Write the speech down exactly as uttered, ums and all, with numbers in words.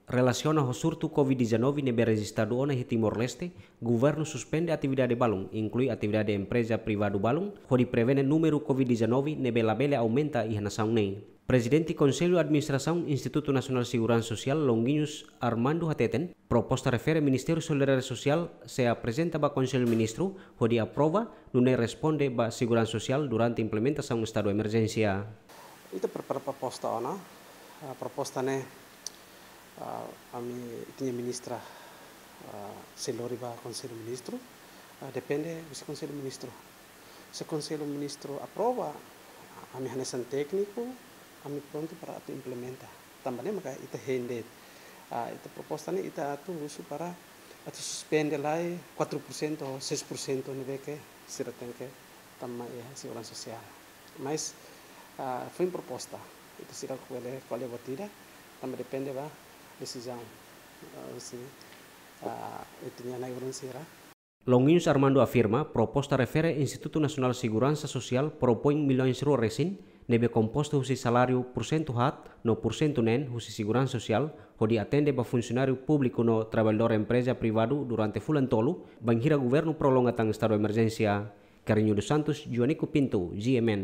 Relasiona ho surtu COVID-19 ne'ebé rejistadu ona iha Timor-Leste, governu suspende atividade balun, inklui atividade empreza privadu balun, hodi prevene númeru COVID-19 ne'ebé labele aumenta iha nasaun ne'e. Prezidente Konsellu Administrasaun Institutu Nasionál Seguransa Sosiál, Longuinhos Armando hateten, proposta refere Ministériu Solidariedade Sosiál sei aprezenta ba Konsellu Ministru hodi aprova, nune'e responde ba seguransa sosiál durante implementasaun estadu emerjénsia. Ita prepara proposta ona, ah, proposta ne'e, ah, ami ita-nia ministra, ah, sei lori ba Konsellu Ministru, ah, depende husi Konsellu Ministru. Se Konsellu Ministru aprova, ami hanesan tékniku, ami prontu para atu implementa. Tanba ne'e maka ita hein de'it, ah, ita proposta ne'e ita atu husu para atu suspende lai quatro por cento ou seis por cento ne'ebé ke sira tenke tama iha seguransa sosiál. Mas, ah, foin proposta, ita sira ko'alia, ko'alia buat ida, tanba depende ba desizaun, ah, husi, ah, ita-nia na'i-ulun sira. Longuinhos Armando afirma, proposta refere Institutu Nasionál Seguransa Sosiál propoin milhões rua resin, ne'ebé kompostu husi saláriu porsentu haat no porsentu neen husi seguransa sosiál, hodi atende ba funsionáriu públiku no traballadór empreza privadu durante fulan tolu, bainhira governu prolonga tan estadu emerjénsia. Carrinho dos Santos, Joanico Pinto, G M N.